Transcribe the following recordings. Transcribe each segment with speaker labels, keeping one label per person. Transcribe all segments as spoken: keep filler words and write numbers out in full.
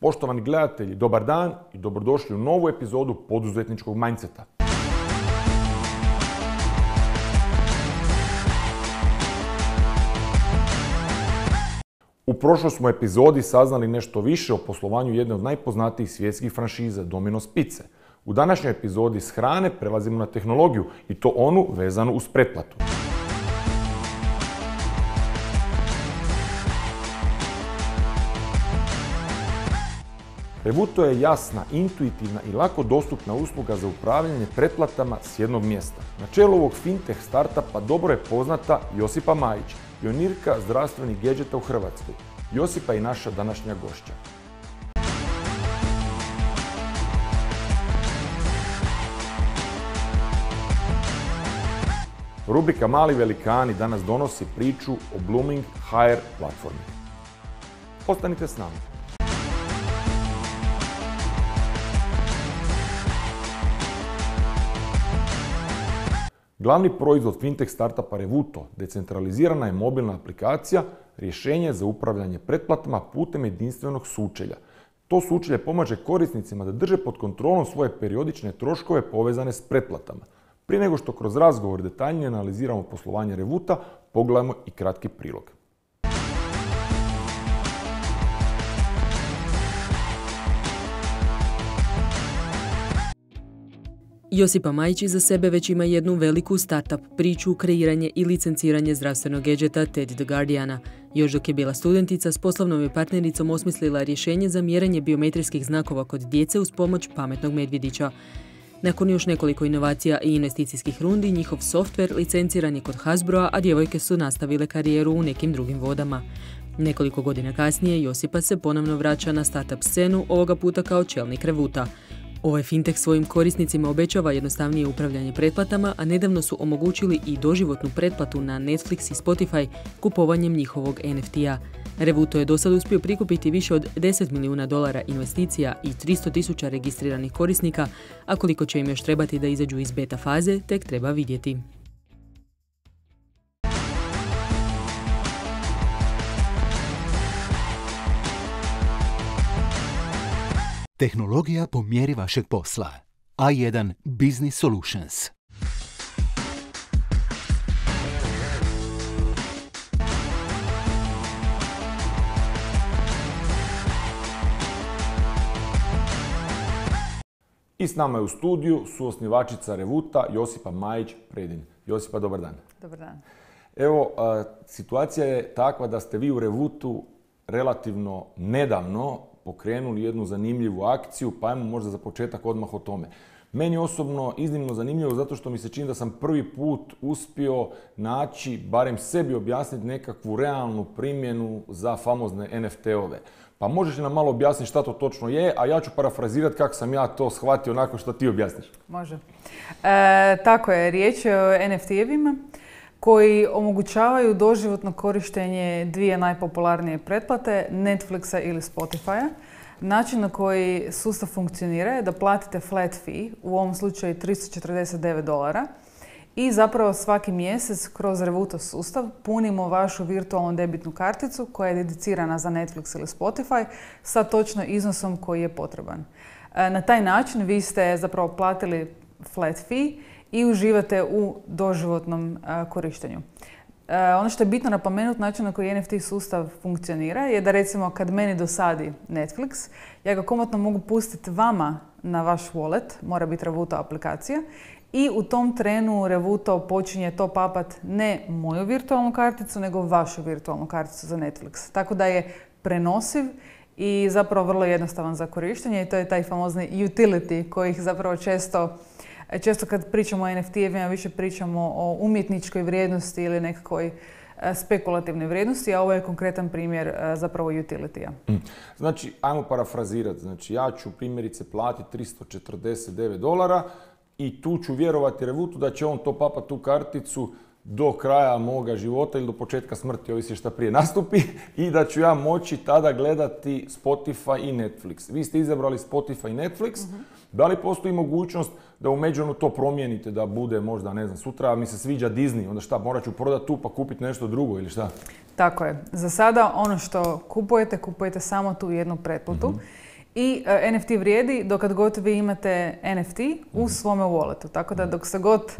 Speaker 1: Poštovani gledatelji, dobar dan i dobrodošli u novu epizodu poduzetničkog mindseta. U prošloj smo epizodi saznali nešto više o poslovanju jedne od najpoznatijih svjetskih franšiza, Domino's Pizze. U današnjoj epizodi s hrane prelazimo na tehnologiju i to onu vezanu uz pretplatu. Revuto je jasna, intuitivna i lako dostupna usluga za upravljanje pretplatama s jednog mjesta. Na čelu ovog fintech startupa dobro je poznata Josipa Majić, pionirka zdravstvenih gadgeta u Hrvatskoj. Josipa je i naša današnja gošća. Rubrika Mali velikani danas donosi priču o Blooming H R platformi. Ostanite s nama. Glavni proizvod fintech startupa Revuto, decentralizirana je mobilna aplikacija, rješenje za upravljanje pretplatama putem jedinstvenog sučelja. To sučelje pomaže korisnicima da drže pod kontrolom svoje periodične troškove povezane s pretplatama. Prije nego što kroz razgovor detaljnije analiziramo poslovanje Revuta, pogledajmo i kratki prilog.
Speaker 2: Josipa Majić iza sebe već ima jednu veliku startup priču, kreiranje i licenciranje zdravstvenog gadgeta Teddy the Guardiana. Još dok je bila studentica, s poslovnom je partnericom osmislila rješenje za mjerenje biometrijskih znakova kod djece uz pomoć pametnog medvjedića. Nakon još nekoliko inovacija i investicijskih rundi, njihov softver licenciran je kod Hasbroa, a djevojke su nastavile karijeru u nekim drugim vodama. Nekoliko godina kasnije Josipa se ponovno vraća na startup scenu, ovoga puta kao čelnik Revuta. Ovaj fintech svojim korisnicima obećava jednostavnije upravljanje pretplatama, a nedavno su omogućili i doživotnu pretplatu na Netflix i Spotify kupovanjem njihovog N F T-a. Revuto je dosad uspio prikupiti više od deset milijuna dolara investicija i tristo tisuća registriranih korisnika, a koliko će im još trebati da izađu iz beta faze, tek treba vidjeti.
Speaker 3: Tehnologija po mjeri vašeg posla. A jedan Business Solutions.
Speaker 1: I s nama je u studiju suosnivačica Revuta Josipa Majić-Predin. Josipa, dobar dan.
Speaker 4: Dobar dan.
Speaker 1: Evo, a, situacija je takva da ste vi u Revutu relativno nedavno pokrenuli jednu zanimljivu akciju, pa ajmo možda za početak odmah o tome. Meni osobno iznimno zanimljivo zato što mi se čini da sam prvi put uspio naći, barem sebi objasniti nekakvu realnu primjenu za famozne N F T-ove. Pa možeš li nam malo objasniti šta to točno je, a ja ću parafrazirati kako sam ja to shvatio nakon što ti objasniš.
Speaker 4: Može. E, tako je, riječ je o N F T-evima koji omogućavaju doživotno korištenje dvije najpopularnije pretplate, Netflixa ili Spotifya. Način na koji sustav funkcionira je da platite flat fee, u ovom slučaju tristo četrdeset devet dolara, i zapravo svaki mjesec kroz Revuto sustav punimo vašu virtualnu debitnu karticu koja je dedicirana za Netflix ili Spotify sa točno iznosom koji je potreban. Na taj način vi ste zapravo platili flat fee i uživate u doživotnom uh, korištenju. Uh, ono što je bitno napomenuti, način na koji N F T sustav funkcionira je da recimo kad meni dosadi Netflix, ja ga komotno mogu pustiti vama na vaš wallet, mora biti Revuto aplikacija, i u tom trenu Revuto počinje top-upat ne moju virtualnu karticu, nego vašu virtualnu karticu za Netflix. Tako da je prenosiv i zapravo vrlo jednostavan za korištenje i to je taj famozni utility kojih zapravo često Često kad pričamo o N F T-evima više pričamo o umjetničkoj vrijednosti ili nekakvoj spekulativnoj vrijednosti, a ovo je konkretan primjer zapravo utility-a.
Speaker 1: Mm. Znači, ajmo parafrazirati. Znači, ja ću primjerice platiti tristo četrdeset devet dolara i tu ću vjerovati Revutu da će on to papati tu karticu do kraja moga života ili do početka smrti, ovisi šta prije nastupi, i da ću ja moći tada gledati Spotify i Netflix. Vi ste izabrali Spotify i Netflix. Uh-huh. Da li postoji mogućnost da u međuvremenu to promijenite, da bude možda, ne znam, sutra mi se sviđa Disney, onda šta, morat ću prodati tu pa kupiti nešto drugo ili šta?
Speaker 4: Tako je. Za sada ono što kupujete, kupujete samo tu jednu pretplatu. Uh-huh. I uh, N F T vrijedi dokad god vi imate N F T u svome walletu. Tako da dok se god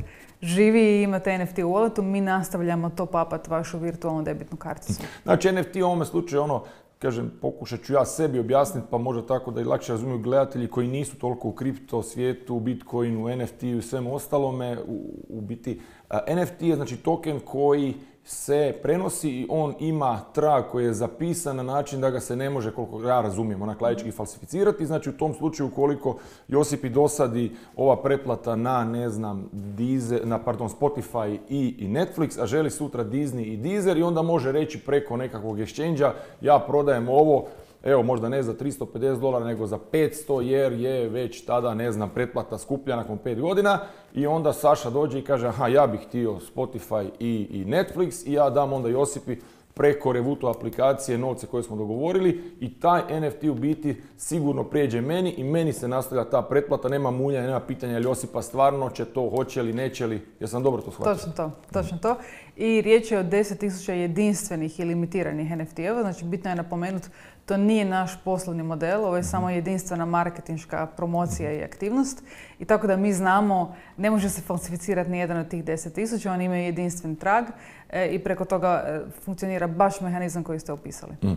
Speaker 4: živi i imate N F T u walletu, mi nastavljamo to papat vašu virtualnu debitnu karticu.
Speaker 1: Znači N F T u ovome slučaju ono, kažem, pokušat ću ja sebi objasniti, pa možda tako da i lakše razumiju gledatelji koji nisu toliko u kripto svijetu, u Bitcoinu, N F T i svemu ostalome. U, u biti, N F T je znači token koji se prenosi i on ima trag koji je zapisan na način da ga se ne može, koliko ja razumijem, onak laički falsificirati. Znači u tom slučaju ukoliko Josipi dosadi ova pretplata na, ne znam, Deezer, na pardon, Spotify i, i Netflix, a želi sutra Disney i Deezer i onda može reći preko nekakvog exchange-a ja prodajem ovo, evo možda ne za tristo pedeset dolara nego za petsto jer je već tada, ne znam, pretplata skuplja nakon pet godina i onda Saša dođe i kaže aha, ja bih htio Spotify i, i Netflix i ja dam onda Josipi preko Revuto aplikacije novce koje smo dogovorili i taj N F T u biti sigurno prijeđe meni i meni se nastavlja ta pretplata, nema muljanja, nema pitanja je li Josipa stvarno će to, hoće li, neće li, jesam dobro to shvatio?
Speaker 4: Točno to, točno to. I riječ je o deset tisuća jedinstvenih i limitiranih N F T-eva, znači bitno je napomenuti, to nije naš poslovni model, ovo je samo jedinstvena marketinška promocija i aktivnost. I tako da mi znamo, ne može se falsificirati ni jedan od tih deset tisuća, oni imaju jedinstven trag e, i preko toga e, funkcionira baš mehanizam koji ste opisali. Mm.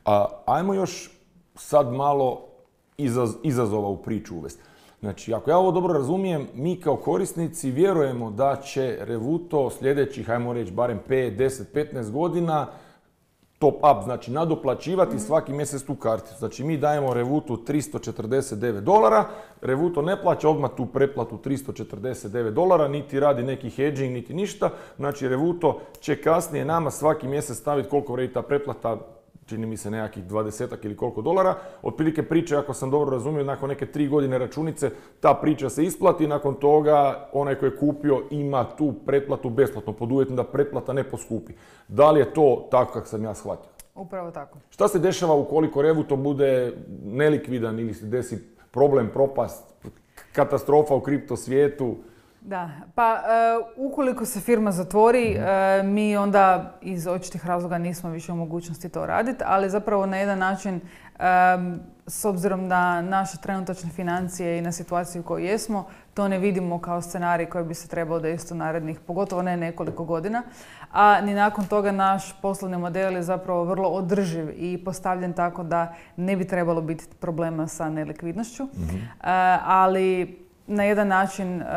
Speaker 1: A, ajmo još sad malo izaz, izazova u priču uvesti. Znači, ako ja ovo dobro razumijem, mi kao korisnici vjerujemo da će Revuto sljedećih, ajmo reći, barem pet, deset, petnaest godina top up, znači nadoplaćivati svaki mjesec tu karticu. Znači mi dajemo Revutu tristo četrdeset devet dolara, Revuto ne plaća odmah tu pretplatu tristo četrdeset devet dolara, niti radi neki hedging, niti ništa. Znači Revuto će kasnije nama svaki mjesec staviti koliko vrijedi ta pretplata, čini mi se nekakvih dvadesetak ili koliko dolara. Otprilike priča, ako sam dobro razumio, nakon neke tri godine računice, ta priča se isplati, nakon toga onaj koji je kupio ima tu pretplatu besplatno, pod uvjetom da pretplata ne poskupi. Da li je to tako kako sam ja shvatio?
Speaker 4: Upravo tako.
Speaker 1: Šta se dešava ukoliko Revuto bude nelikvidan ili se desi problem, propast, katastrofa u kripto svijetu?
Speaker 4: Da, pa uh, ukoliko se firma zatvori, uh, mi onda iz očitih razloga nismo više u mogućnosti to raditi, ali zapravo na jedan način, um, s obzirom na naše trenutačne financije i na situaciju u kojoj jesmo, to ne vidimo kao scenarij koji bi se trebao desiti u narednih, pogotovo ne nekoliko godina. A ni nakon toga naš poslovni model je zapravo vrlo održiv i postavljen tako da ne bi trebalo biti problema sa nelikvidnošću. Mm-hmm. Uh, ali na jedan način uh,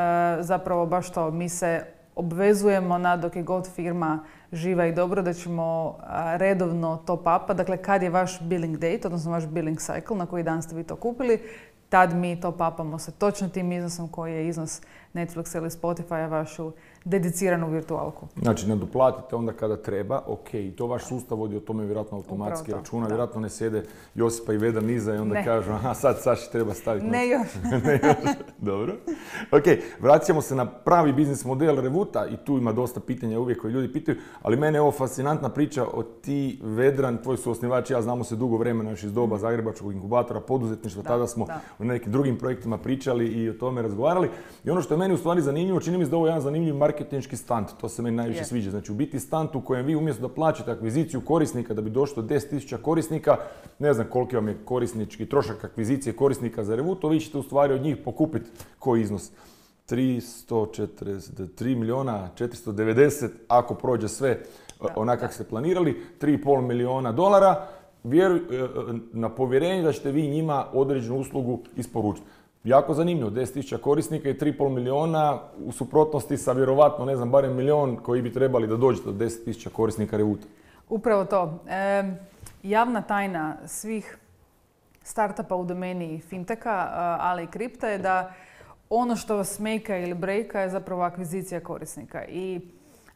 Speaker 4: zapravo baš to, mi se obvezujemo na dok je god firma živa i dobro da ćemo uh, redovno top upa, dakle kad je vaš billing date, odnosno vaš billing cycle, na koji dan ste vi to kupili, tad mi top upamo sa točno tim iznosom koji je iznos Netflixa ili Spotify, vašu dediciranu virtualku.
Speaker 1: Znači, nadoplatite onda kada treba, ok, i to vaš sustav vodi o tome vjerojatno automatski računa, da. Vjerojatno ne sjede Josipa i Veda niza i onda ne. Kažu, aha, sad Saši treba staviti.
Speaker 4: Ne još.
Speaker 1: Ne još, dobro. Ok, vraćamo se na pravi biznis model Revuta i tu ima dosta pitanja uvijek koji ljudi pitaju, ali mene je ovo fascinantna priča o ti, Vedran, tvoj su osnivač, ja znamo se dugo vremena još iz doba Zagrebačkog inkubatora poduzetništva, da, tada smo da. u nekim drugim projektima pričali i o tome razgovarali. I ono što je meni u stvari zanimljivo, čini mi se da ovo je jedan zanimljiv marketinški stunt, to se meni najviše yeah. sviđa. Znači u biti stunt u kojem vi umjesto da plaćate akviziciju korisnika da bi došlo do deset tisuća korisnika, ne znam koliki vam je korisnički trošak akvizicije korisnika za Revuto, vi ćete u stvari od njih pokupiti koji iznos. tristo četrdeset tri milijuna četiristo devedeset ako prođe sve onako kako ste planirali, tri i pol milijuna dolara, vjeruj, na povjerenje da ćete vi njima određenu uslugu isporučiti. Jako zanimljivo, deset tisuća korisnika i tri i pol milijuna u suprotnosti sa vjerovatno, ne znam, barem milijon koji bi trebali da dođete do deset tisuća korisnika Revuta.
Speaker 4: Upravo to. E, javna tajna svih startupa u domeni finteka, ali i kripta je da ono što vas make ili breaka je zapravo akvizicija korisnika. I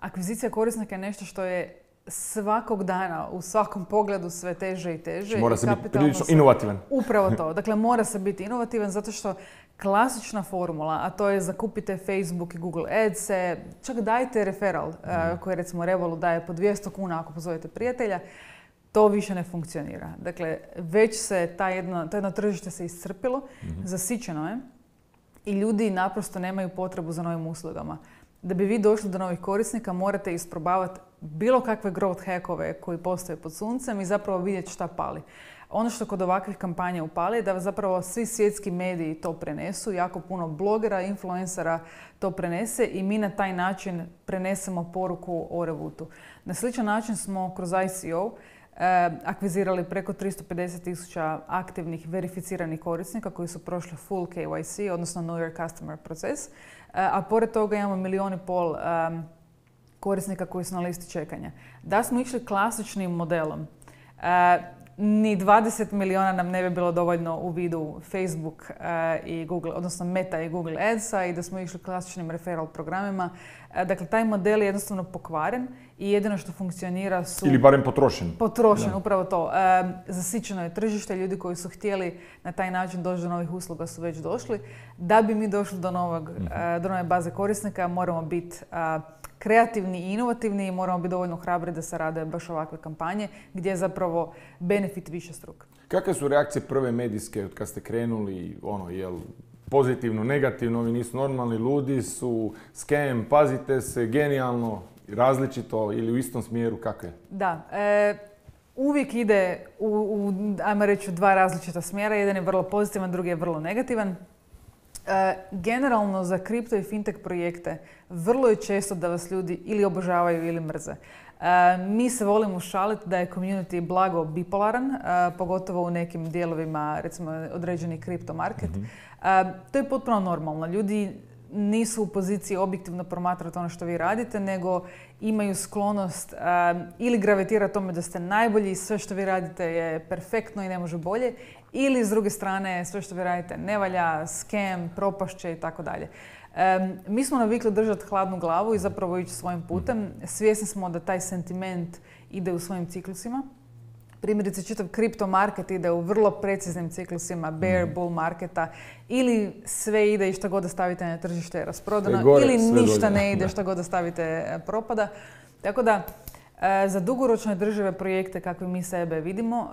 Speaker 4: akvizicija korisnika je nešto što je svakog dana, u svakom pogledu sve teže i teže.
Speaker 1: Mora se biti prilično inovativan.
Speaker 4: Upravo to. Dakle, mora se biti inovativan zato što klasična formula, a to je zakupite Facebook i Google Adse, čak dajte referral mm. uh, koji recimo Revolut daje po dvjesto kuna ako pozovete prijatelja, to više ne funkcionira. Dakle, već se ta jedno, to jedno tržište se iscrpilo, mm-hmm. zasićeno je i ljudi naprosto nemaju potrebu za novim uslugama. Da bi vi došli do novih korisnika, morate isprobavati bilo kakve growth hackove koji postoje pod suncem i zapravo vidjeti šta pali. Ono što kod ovakvih kampanja upali je da zapravo svi svjetski mediji to prenesu, jako puno blogera, influencera to prenese i mi na taj način prenesemo poruku o Revootu. Na sličan način smo kroz I C O eh, akvizirali preko tristo pedeset tisuća aktivnih verificiranih korisnika koji su prošli full K Y C, odnosno Know Your Customer proces, eh, a pored toga imamo milijun i pol eh, korisnika koji su na listi čekanja. Da smo išli klasičnim modelom, eh, ni dvadeset milijuna nam ne bi bilo dovoljno u vidu Facebook uh, i Google, odnosno Meta i Google Adsa i da smo išli klasičnim referral programima. Uh, dakle, taj model je jednostavno pokvaren i jedino što funkcionira su...
Speaker 1: Ili barem potrošen.
Speaker 4: Potrošen, upravo to. Uh, zasićeno je tržište, ljudi koji su htjeli na taj način doći do novih usluga su već došli. Da bi mi došli do, novog, uh, do nove baze korisnika, moramo biti uh, kreativni i inovativni i moramo biti dovoljno hrabri da se rade baš ovakve kampanje gdje je zapravo benefit više struk.
Speaker 1: Kakve su reakcije prve medijske od kad ste krenuli, ono, jel, pozitivno, negativno, ovi nisu normalni, ludi su, scam, pazite se, genijalno, različito ili u istom smjeru, kako je?
Speaker 4: Da, e, uvijek ide u, u, ajmo reći, dva različita smjera. Jedan je vrlo pozitivan, drugi je vrlo negativan. E, generalno za kripto i fintech projekte vrlo je često da vas ljudi ili obožavaju ili mrze. E, mi se volimo šaliti da je community blago bipolaran, e, pogotovo u nekim dijelovima, recimo određeni kripto market. Mm-hmm. E, to je potpuno normalno. Ljudi nisu u poziciji objektivno promatrati ono što vi radite, nego imaju sklonost um, ili gravitira tome da ste najbolji i sve što vi radite je perfektno i ne može bolje, ili s druge strane sve što vi radite ne valja, scam, propašće i tako dalje. Mi smo navikli držati hladnu glavu i zapravo ići svojim putem. Svjesni smo da taj sentiment ide u svojim ciklusima. Primjerice, čitav kripto market ide u vrlo preciznim ciklusima bear, bull marketa, ili sve ide i šta god da stavite na tržište je rasprodano, gore, ili ništa dolje. Ne ide, šta god da stavite propada. Tako da, za dugoročne države projekte kakve mi sebe vidimo,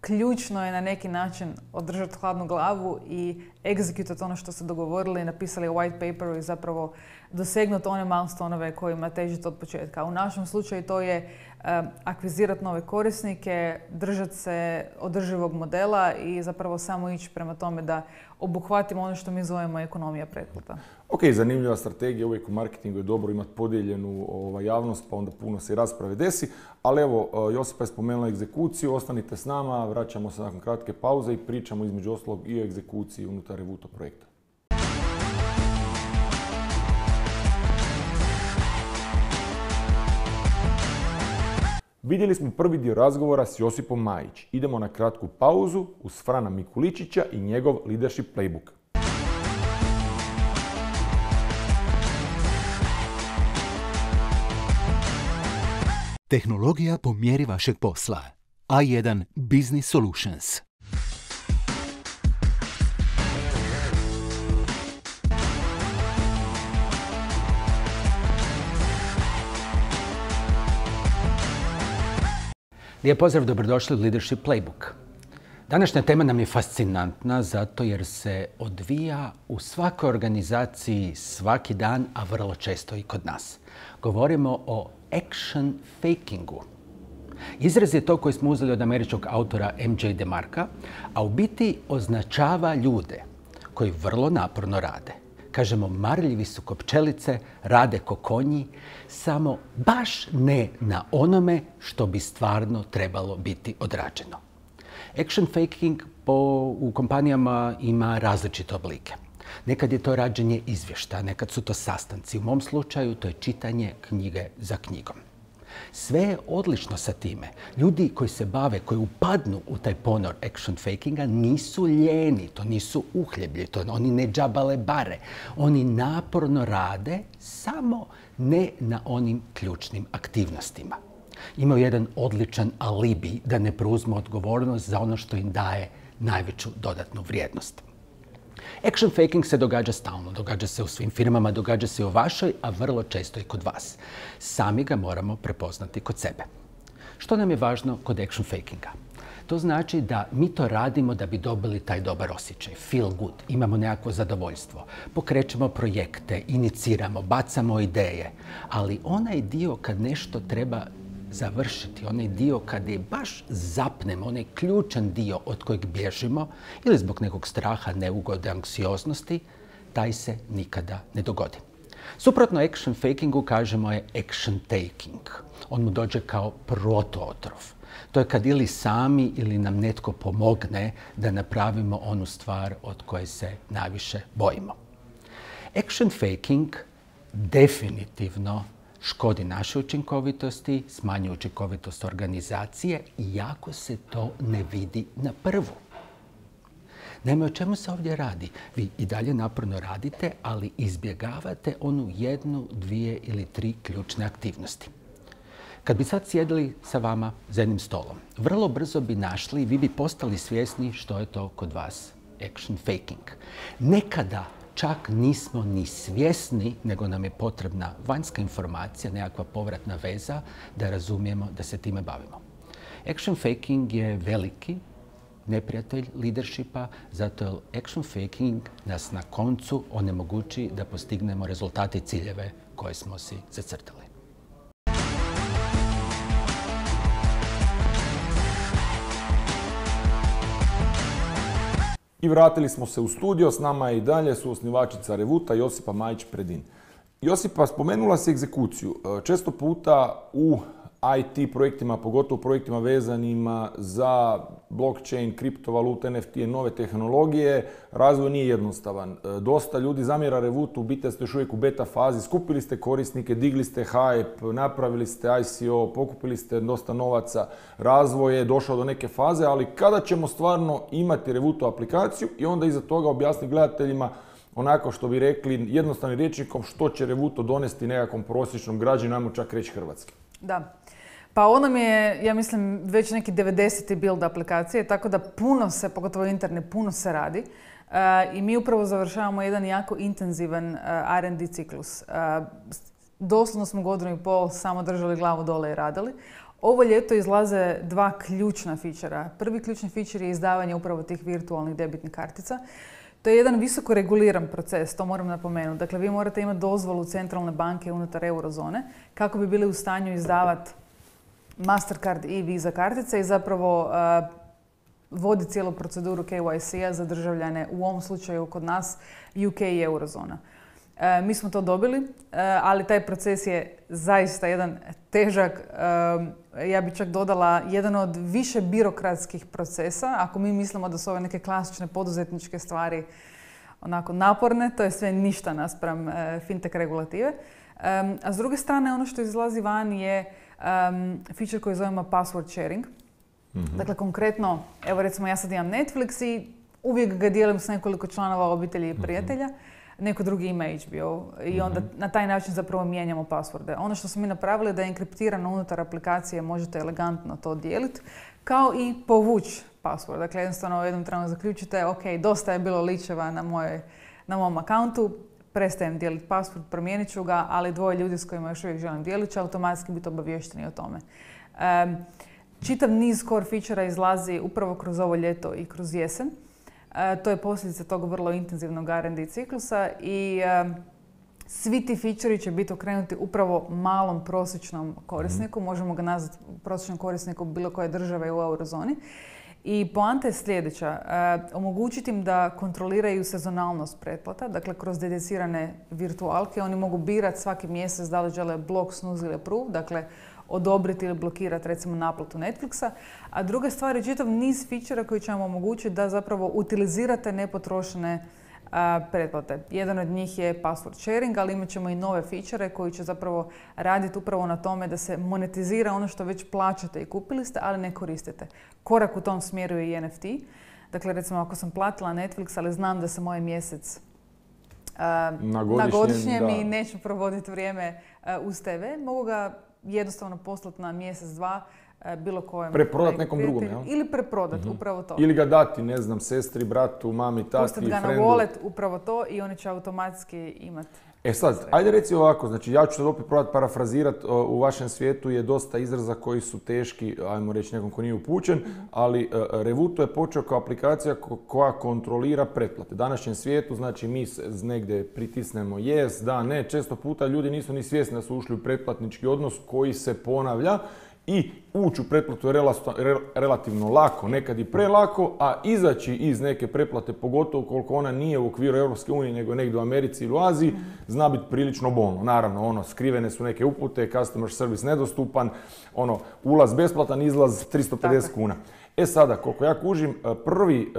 Speaker 4: ključno je na neki način održati hladnu glavu i egzekutati ono što ste dogovorili, napisali u white paperu i zapravo dosegnuti one milestonove kojima težite od početka. U našem slučaju to je um, akvizirati nove korisnike, držati se održivog modela i zapravo samo ići prema tome da obuhvatimo ono što mi zovemo ekonomija pretplata.
Speaker 1: Ok, zanimljiva strategija, uvijek u marketingu je dobro imati podijeljenu ovaj, javnost, pa onda puno se i rasprave desi. Ali evo, Josipa je spomenula egzekuciju, ostanite s nama, vraćamo se nakon kratke pauze i pričamo između ostalog i o egzekuciji unutar Revooto projekta. Vidjeli smo prvi dio razgovora s Josipom Majić. Idemo na kratku pauzu uz Frana Mikuličića i njegov leadership playbook.
Speaker 3: Tehnologija po mjeri vašeg posla. A jedan Business Solutions.
Speaker 5: Lijep pozdrav, dobrodošli u Leadership Playbook. Današnja tema nam je fascinantna zato jer se odvija u svakoj organizaciji svaki dan, a vrlo često i kod nas. Govorimo o action fakingu. Izraz je to koji smo uzeli od američkog autora M J DeMarca, a u biti označava ljude koji vrlo naporno rade. Kažemo, marljivi su ko pčelice, rade ko konji, samo baš ne na onome što bi stvarno trebalo biti odrađeno. Action faking po, u kompanijama ima različite oblike. Nekad je to rađenje izvještaja, nekad su to sastanci. U mom slučaju to je čitanje knjige za knjigom. Sve je odlično sa time. Ljudi koji se bave, koji upadnu u taj ponor action fakinga nisu ljeni, to nisu uhljeblji, to oni ne džabale bare. Oni naporno rade, samo ne na onim ključnim aktivnostima. Imaju jedan odličan alibi da ne preuzmu odgovornost za ono što im daje najveću dodatnu vrijednost. Action faking se događa stalno, događa se u svim firmama, događa se i u vašoj, a vrlo često i kod vas. Sami ga moramo prepoznati kod sebe. Što nam je važno kod action fakinga? To znači da mi to radimo da bi dobili taj dobar osjećaj, feel good, imamo nekakvo zadovoljstvo. Pokrećemo projekte, iniciramo, bacamo ideje, ali onaj dio kad nešto treba završiti onaj dio kada je baš zapnemo, onaj ključan dio od kojeg bježimo ili zbog nekog straha, neugode, anksioznosti, taj se nikada ne dogodi. Suprotno action fakingu kažemo je action taking. On mu dođe kao protootrov. To je kad ili sami ili nam netko pomogne da napravimo onu stvar od koje se najviše bojimo. Action faking definitivno škodi našoj učinkovitosti, smanjuje učinkovitost organizacije, iako se to ne vidi na prvu. Naime, o čemu se ovdje radi? Vi i dalje naporno radite, ali izbjegavate onu jednu, dvije ili tri ključne aktivnosti. Kad bi sad sjedili sa vama za jednim stolom, vrlo brzo bi našli i vi bi postali svjesni što je to kod vas action faking. Nekada čak nismo ni svjesni, nego nam je potrebna vanjska informacija, nekakva povratna veza da razumijemo da se time bavimo. Action faking je veliki neprijatelj leadershipa, zato je action faking nas na koncu onemogući da postignemo rezultate i ciljeve koje smo si zacrtali.
Speaker 1: I vratili smo se u studio, s nama je i dalje suosnivačica Revuta Josipa Majić-Predin. Josipa, spomenula si egzekuciju. Često puta u I T projektima, pogotovo projektima vezanima za blockchain, kriptovalute, N F T, nove tehnologije, razvoj nije jednostavan. Dosta ljudi zamjera Revutu, u biti ste još uvijek u beta fazi, skupili ste korisnike, digli ste hype, napravili ste I C O, pokupili ste dosta novaca, razvoj je došao do neke faze, ali kada ćemo stvarno imati Revutu aplikaciju i onda iza toga objasniti gledateljima onako što bi rekli jednostavnim rječnikom što će Revuto donesti nekakvom prosječnom građaninu, ajmo čak reći hrvatski.
Speaker 4: Da. Pa ono mi je, ja mislim, već neki devedeseti build aplikacije, tako da puno se, pogotovo internet, puno se radi. Uh, I mi upravo završavamo jedan jako intenzivan uh, R and D ciklus. Uh, doslovno smo godinu i pol samo držali glavu dole i radili. Ovo ljeto izlaze dva ključna fičera. Prvi ključni fičer je izdavanje upravo tih virtualnih debitnih kartica. To je jedan visoko reguliran proces, to moram napomenuti. Dakle, vi morate imati dozvolu centralne banke unutar eurozone kako bi bili u stanju izdavati Mastercard i Visa kartice i zapravo uh, vodi cijelu proceduru K Y C-a za državljane, u ovom slučaju kod nas U K i eurozona. Uh, mi smo to dobili, uh, ali taj proces je zaista jedan težak, uh, ja bih čak dodala, jedan od više birokratskih procesa. Ako mi mislimo da su ove neke klasične poduzetničke stvari onako naporne, to je sve ništa naspram uh, fintech regulative. Um, a s druge strane, ono što izlazi van je um, feature koji zovemo password sharing. Mm-hmm. Dakle, konkretno, evo recimo ja sad imam Netflix i uvijek ga dijelim s nekoliko članova obitelji i prijatelja. Mm-hmm. Neko drugi ima H B O i onda mm-hmm. na taj način zapravo mijenjamo passworde. Ono što smo mi napravili je da je enkriptirano unutar aplikacije, možete elegantno to dijeliti, kao i povući password. Dakle, jednostavno u jednom trenu zaključite, ok, dosta je bilo ličeva na, moje, na mom akauntu, prestajem dijeliti password, promijenit ću ga, ali dvoje ljudi s kojima još uvijek želim dijeliti će automatski biti obavješteni o tome. Um, čitav niz core feature-a izlazi upravo kroz ovo ljeto i kroz jesen. Uh, to je posljedica tog vrlo intenzivnog R and D ciklusa i um, svi ti feature-i će biti okrenuti upravo malom prosječnom korisniku. Mm. Možemo ga nazvati prosječnom korisniku bilo koje države u eurozoni. I poanta je sljedeća, uh, omogućiti im da kontroliraju sezonalnost pretplata, dakle kroz dedicirane virtualke. Oni mogu birati svaki mjesec da li žele block, snooze ili approve, dakle odobriti ili blokirati recimo naplatu Netflixa. A druga stvar je čitav niz feature koji će vam omogućiti da zapravo utilizirate nepotrošene uh, pretplate. Jedan od njih je password sharing, ali imat ćemo i nove feature koji će zapravo raditi upravo na tome da se monetizira ono što već plaćate i kupili ste, ali ne koristite. Korak u tom smjeru je i N F T. Dakle, recimo ako sam platila Netflix, ali znam da se moj mjesec uh, na godišnjem, na godišnjem i neću provoditi vrijeme uh, uz T V, mogu ga jednostavno poslati na mjesec, dva, bilo kojem.
Speaker 1: Preprodat nekom drugom, jel?
Speaker 4: Ili preprodat, mm-hmm. upravo to.
Speaker 1: Ili ga dati, ne znam, sestri, bratu, mami, tati,
Speaker 4: Pustat ga
Speaker 1: frendu.
Speaker 4: na wallet, upravo to, i oni će automatski imati.
Speaker 1: E sad, sve. Ajde reci ovako, znači ja ću sad opet probati parafrazirati, u vašem svijetu je dosta izraza koji su teški, ajmo reći nekom ko nije upućen, mm-hmm. ali uh, Revuto je počeo kao aplikacija ko- koja kontrolira pretplate. U današnjem svijetu, znači mi negdje pritisnemo yes, da, ne, često puta ljudi nisu ni svjesni da su ušli u pretplatnički odnos koji se ponavlja i ući u pretplatu je relativno lako, nekad i prelako, a izaći iz neke pretplate, pogotovo koliko ona nije u okviru Europske unije, nego negdje u Americi ili u Aziji, zna biti prilično bolno. Naravno, ono, skrivene su neke upute, customer service nedostupan, ono, ulaz besplatan, izlaz tristo pedeset kuna. E sada, koliko ja kužim, prvi,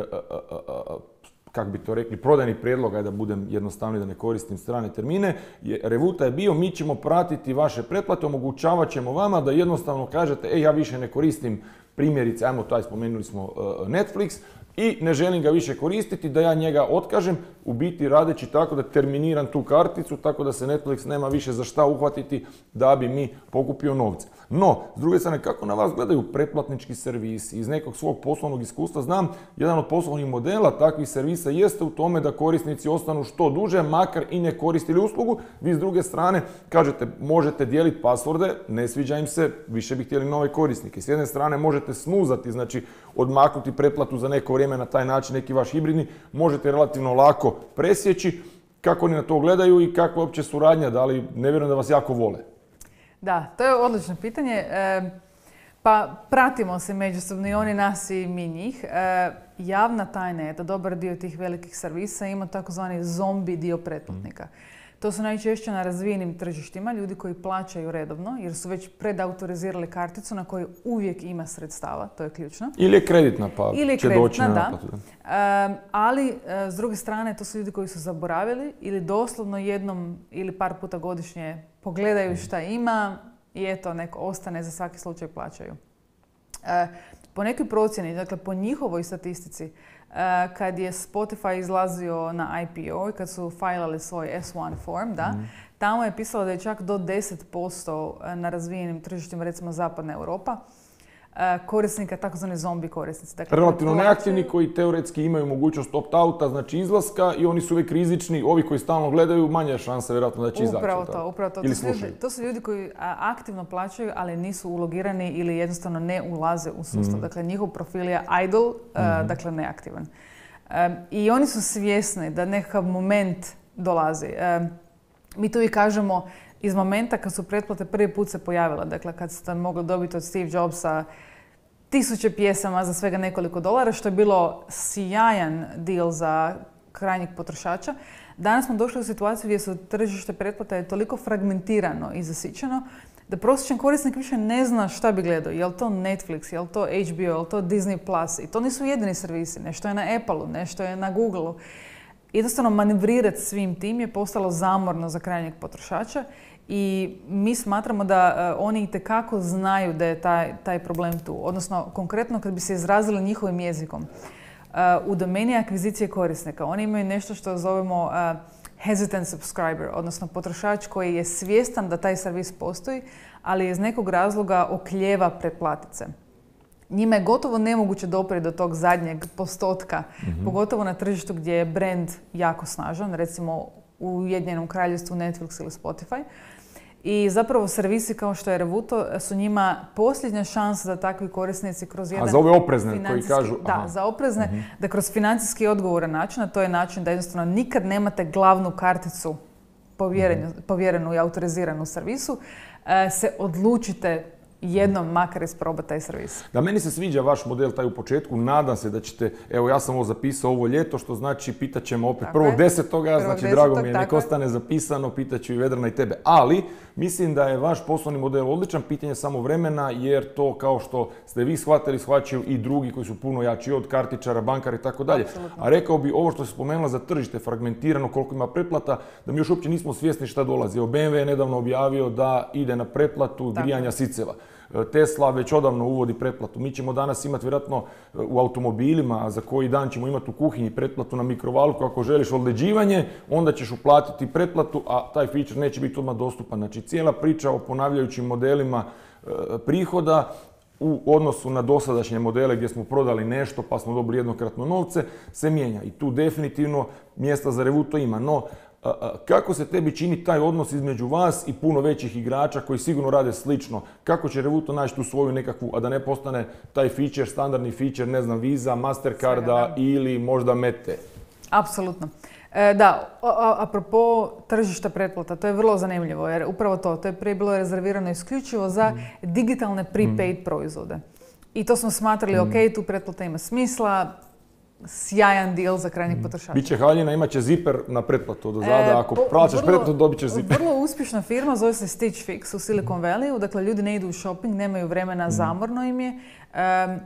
Speaker 1: kako bi to rekli, prodajni prijedlog, ajde da budem jednostavniji, da ne koristim strane termine, je, Revuta je bio, mi ćemo pratiti vaše pretplate, omogućavat ćemo vama da jednostavno kažete, e, ja više ne koristim primjerice, ajmo taj, spomenuli smo Netflix, i ne želim ga više koristiti, da ja njega otkažem, u biti radeći tako da terminiram tu karticu, tako da se Netflix nema više za šta uhvatiti da bi mi pokupio novce. No, s druge strane, kako na vas gledaju pretplatnički servisi? Iz nekog svog poslovnog iskustva znam, jedan od poslovnih modela takvih servisa jeste u tome da korisnici ostanu što duže, makar i ne koristili uslugu. Vi s druge strane kažete, možete dijeliti pasvorde, ne sviđa im se, više bi htjeli nove korisnike. S jedne strane možete snuzati, znači odmaknuti pretplatu za neko vrijeme na taj način, neki vaš hibridni, možete relativno lako presjeći. Kako oni na to gledaju i kakva je uopće suradnja, da li ne vjerujem da vas jako vole?
Speaker 4: Da, to je odlično pitanje. E, pa pratimo se međusobno i oni nas i mi njih. E, javna tajna je da dobar dio tih velikih servisa ima takozvani zombi dio pretplatnika. To su najčešće na razvijenim tržištima ljudi koji plaćaju redovno jer su već predautorizirali karticu na kojoj uvijek ima sredstava, to je ključno.
Speaker 1: Ili je kreditna pa
Speaker 4: Ili je
Speaker 1: će
Speaker 4: kreditna,
Speaker 1: doći na naplatu.
Speaker 4: Da. Um, ali uh, s druge strane to su ljudi koji su zaboravili ili doslovno jednom ili par puta godišnje pogledaju šta ima i eto neko ostane, za svaki slučaj plaćaju. Uh, po nekoj procjeni, dakle po njihovoj statistici, kad je Spotify izlazio na I P O i kad su fajlali svoj S jedan form, da, mm. tamo je pisalo da je čak do deset posto na razvijenim tržištima, recimo Zapadna Europa, korisnika, takozvani zombi korisnici.
Speaker 1: Dakle, relativno neaktivni koji teoretski imaju mogućnost opt-outa, znači izlaska i oni su uvijek rizični. Ovi koji stalno gledaju, manja je šansa vjerojatno da će izaći.
Speaker 4: Upravo to, upravo to.
Speaker 1: Ili
Speaker 4: to, su ljudi, to su ljudi koji aktivno plaćaju, ali nisu ulogirani ili jednostavno ne ulaze u sustav. Mm. Dakle, njihov profil je idle, mm-hmm. uh, dakle neaktivan. Um, I oni su svjesni da nekakav moment dolazi. Um, mi tu i kažemo iz momenta kad su pretplate prvi put se pojavile, dakle kad ste mogli dobiti od Steve Jobsa tisuće pjesama za svega nekoliko dolara, što je bilo sjajan deal za krajnjeg potrošača. Danas smo došli u situaciju gdje su tržište pretplata je toliko fragmentirano i zasićeno da prosječan korisnik više ne zna šta bi gledao. Je li to Netflix, je li to H B O, je li to Disney plus? I to nisu jedini servisi. Nešto je na Appleu, nešto je na Googleu. Jednostavno manevrirati svim tim je postalo zamorno za krajnjeg potrošača i mi smatramo da uh, oni itekako znaju da je taj, taj problem tu. Odnosno, konkretno kad bi se izrazili njihovim jezikom. Uh, u domeni akvizicije korisnika oni imaju nešto što zovemo uh, hesitant subscriber, odnosno potrošač koji je svjestan da taj servis postoji, ali iz nekog razloga oklijeva pretplatit se. Njima je gotovo nemoguće doprijeti do tog zadnjeg postotka, mm-hmm. pogotovo na tržištu gdje je brand jako snažan, recimo u Ujedinjenom Kraljevstvu Netflix ili Spotify. I zapravo servisi kao što je Revuto su njima posljednja šansa da takvi korisnici kroz jedan...
Speaker 1: A za ove oprezne koji kažu...
Speaker 4: Da, aha. za oprezne, mm-hmm. da kroz financijski odgovoran način, a to je način da jednostavno nikad nemate glavnu karticu povjerenu, mm-hmm. povjerenu i autoriziranu u servisu, se odlučite jednom makar isprobati taj servis.
Speaker 1: Da, meni se sviđa vaš model taj u početku. Nadam se da ćete, evo ja sam ovo zapisao ovo ljeto, što znači pitat ćemo opet prvog desetog, znači drago mi je, nek ostane zapisano, pitat ću i Vedrana i tebe. Ali mislim da je vaš poslovni model odličan, pitanje samo vremena, jer to kao što ste vi shvatili, shvaćaju i drugi koji su puno jači od kartičara, bankara i tako dalje. A rekao bi ovo što se spomenula za tržište, fragmentirano, koliko ima pretplata, da mi još uopće nismo svjesni šta dolazi. Evo, B M W je nedavno objavio da ide na pretplatu grijanja siceva. Tesla već odavno uvodi pretplatu. Mi ćemo danas imati vjerojatno u automobilima, a za koji dan ćemo imati u kuhinji pretplatu na mikrovalku. Ako želiš odleđivanje, onda ćeš uplatiti pretplatu, a taj feature neće biti odmah dostupan. Znači cijela priča o ponavljajućim modelima e, prihoda u odnosu na dosadašnje modele gdje smo prodali nešto pa smo dobili jednokratno novce se mijenja. I tu definitivno mjesta za Revuto ima. No, kako se tebi čini taj odnos između vas i puno većih igrača koji sigurno rade slično? Kako će Revuto naći tu svoju nekakvu, a da ne postane taj feature, standardni feature, ne znam, Visa, Mastercarda ili možda Mete?
Speaker 4: Apsolutno. E, da, a, a, apropo tržišta pretplata, to je vrlo zanimljivo jer upravo to, to je prije bilo rezervirano isključivo za mm. digitalne prepaid mm. proizvode. I to smo smatrali, mm. ok, tu pretplata ima smisla, sjajan deal za krajnjih mm. potrošača.
Speaker 1: Biće haljina, imat će ziper na pretplatu od zada, e, ako plaćaš pretplatu dobit ćeš ziper.
Speaker 4: Vrlo uspješna firma, zove se Stitch Fix u Silicon Valleyu, dakle ljudi ne idu u shopping, nemaju vremena, mm. zamorno im je. Um,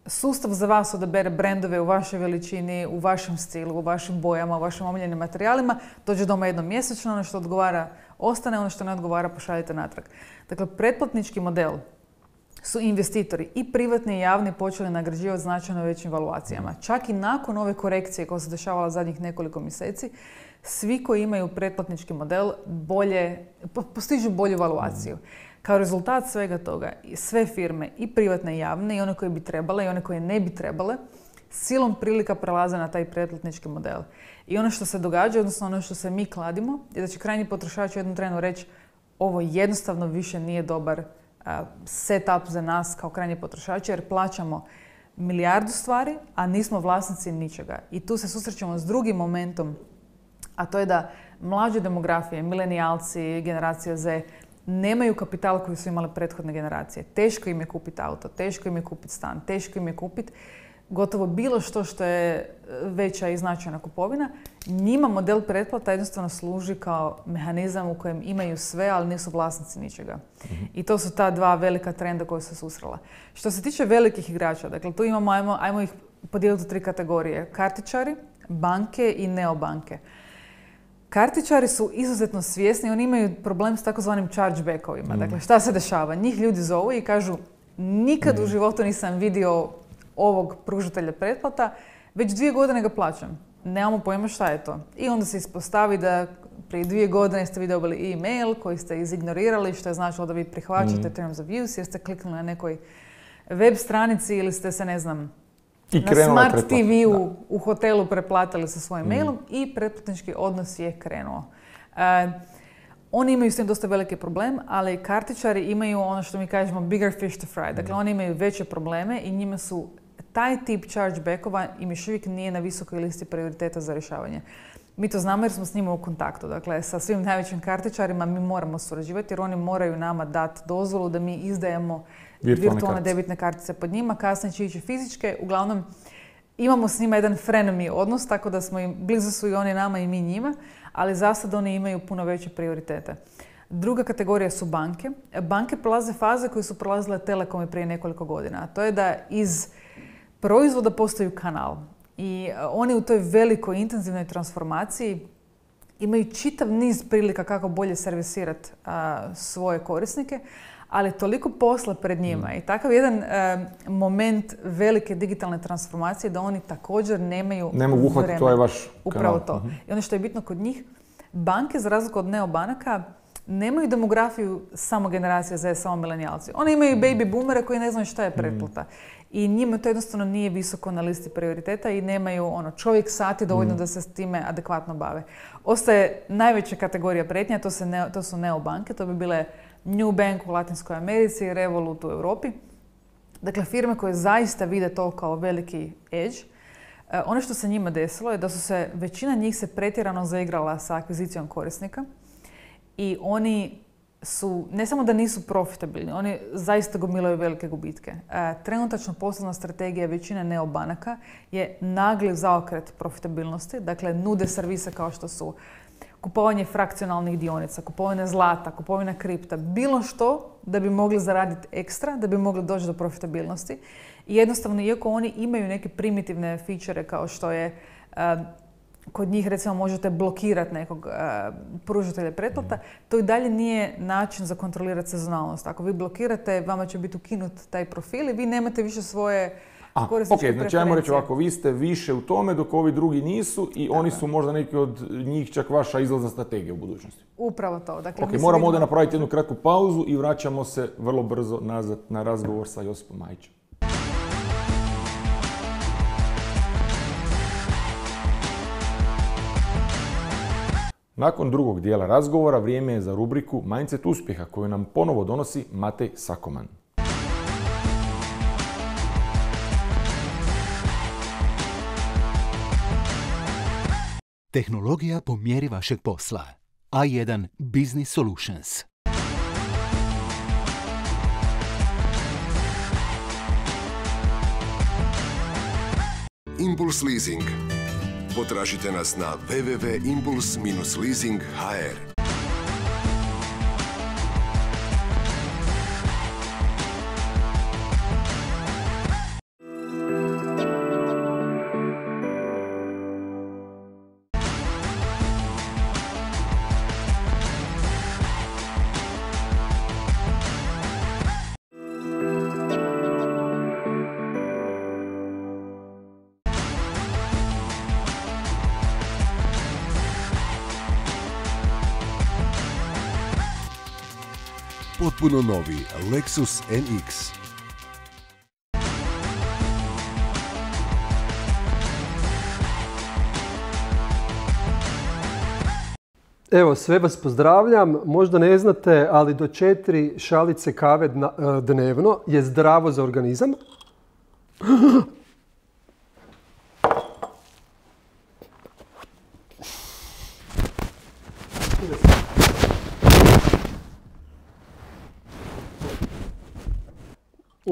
Speaker 4: Sustav za vas odabere brendove u vašoj veličini, u vašem stilu, u vašim bojama, u vašim omiljenim materijalima. Dođe doma jednom mjesečno, ono što odgovara ostane, ono što ne odgovara pošaljite natrag. Dakle, pretplatnički model su investitori i privatni i javni počeli nagrađivati značajno većim valuacijama. Čak i nakon ove korekcije koja se dešavala zadnjih nekoliko mjeseci, svi koji imaju pretplatnički model bolje, postižu bolju valuaciju. Kao rezultat svega toga, sve firme, i privatne i javne, i one koje bi trebale i one koje ne bi trebale, silom prilika prelaze na taj pretplatnički model. I ono što se događa, odnosno ono što se mi kladimo, je da će krajnji potrošač u jednom trenu reći ovo jednostavno više nije dobar uh, setup za nas kao krajnji potrošači, jer plaćamo milijardu stvari, a nismo vlasnici ničega. I tu se susrećemo s drugim momentom, a to je da mlađe demografije, milenijalci, generacija Z, nemaju kapital koji su imale prethodne generacije. Teško im je kupiti auto, teško im je kupiti stan, teško im je kupiti gotovo bilo što što je veća i značajna kupovina. Njima model pretplata jednostavno služi kao mehanizam u kojem imaju sve, ali nisu vlasnici ničega. Mm-hmm. I to su ta dva velika trenda koja su susrela. Što se tiče velikih igrača, dakle tu imamo, ajmo, ajmo ih podijeliti u tri kategorije. Kartičari, banke i neobanke. Kartičari su izuzetno svjesni, oni imaju problem s takozvanim chargebackovima. Mm. Dakle, šta se dešava? Njih ljudi zovu i kažu nikad mm. u životu nisam vidio ovog pružatelja pretplata, već dvije godine ga plaćam. Nemamo pojma šta je to. I onda se ispostavi da prije dvije godine ste vi dobili e-mail koji ste izignorirali, što je značilo da vi prihvaćate mm. terms of use jer ste kliknuli na nekoj web stranici ili ste se, ne znam, I na Smart T V-u u hotelu preplatili sa svojim mm. mailom i pretplatnički odnos je krenuo. Uh, oni imaju s tim dosta veliki problem, ali kartičari imaju ono što mi kažemo bigger fish to fry. Dakle, mm. oni imaju veće probleme i njima su taj tip chargebackova im još uvijek nije na visokoj listi prioriteta za rješavanje. Mi to znamo jer smo s njima u kontaktu. Dakle, sa svim najvećim kartičarima mi moramo surađivati jer oni moraju nama dati dozvolu da mi izdajemo virtualne, virtualne debitne kartice pod njima. Kasnije će ići fizičke. Uglavnom, imamo s njima jedan frenemy odnos, tako da smo im, blizu su i oni nama i mi njima, ali za sad oni imaju puno veće prioritete. Druga kategorija su banke. Banke prolaze faze koje su prolazile telekomi prije nekoliko godina. A to je da iz proizvoda postaju kanal. I oni u toj velikoj intenzivnoj transformaciji imaju čitav niz prilika kako bolje servisirati svoje korisnike, ali toliko posla pred njima mm. i takav jedan a, moment velike digitalne transformacije da oni također nemaju
Speaker 1: ne mogu uhvatiti, to je vaš kanal.
Speaker 4: Upravo to. Mm-hmm. I ono što je bitno kod njih, banke za razliku od neobanaka nemaju demografiju samo generacija Z, samo milenijalci. Oni imaju baby boomere koji ne znaju šta je pretplata. Mm. I njima to jednostavno nije visoko na listi prioriteta i nemaju ono, čovjek sati dovoljno mm. da se s time adekvatno bave. Ostaje najveća kategorija prijetnja, to, se ne, to su neobanke, to bi bile New Bank u Latinskoj Americi i Revolut u Europi. Dakle, firme koje zaista vide to kao veliki edge. E, ono što se njima desilo je da su se, većina njih se pretjerano zaigrala sa akvizicijom korisnika i oni su, ne samo da nisu profitabilni, oni zaista gomilaju velike gubitke. E, trenutačno poslovna strategija većine neobanaka je nagli zaokret profitabilnosti, dakle nude servise kao što su kupovanje frakcionalnih dionica, kupovanje zlata, kupovina kripta, bilo što da bi mogli zaraditi ekstra, da bi mogli doći do profitabilnosti. I jednostavno, iako oni imaju neke primitivne feature kao što je uh, kod njih recimo možete blokirati nekog uh, pružatelja pretplata, to i dalje nije način za kontrolirati sezonalnost. Ako vi blokirate, vama će biti ukinut taj profil i vi nemate više svoje
Speaker 1: A, ok, znači ajmo reći ovako, vi ste više u tome dok ovi drugi nisu i Tako. oni su možda neki od njih čak vaša izlazna strategija u budućnosti.
Speaker 4: Upravo to. Dakle,
Speaker 1: ok, moramo vidimo... ovdje napraviti jednu kratku pauzu i vraćamo se vrlo brzo nazad na razgovor sa Josipom Majićem. Nakon drugog dijela razgovora vrijeme je za rubriku Mindset uspjeha koju nam ponovo donosi Matej Sakoman.
Speaker 3: Tehnologija po mjeri vašeg posla. A jedan Business Solutions.
Speaker 6: Impuls Leasing. Potražite nas na w w w tačka impuls dash leasing tačka h r. Potpuno novi Lexus N X.
Speaker 7: Evo, sve vas pozdravljam. Možda ne znate, ali do četiri šalice kave dnevno je zdravo za organizam.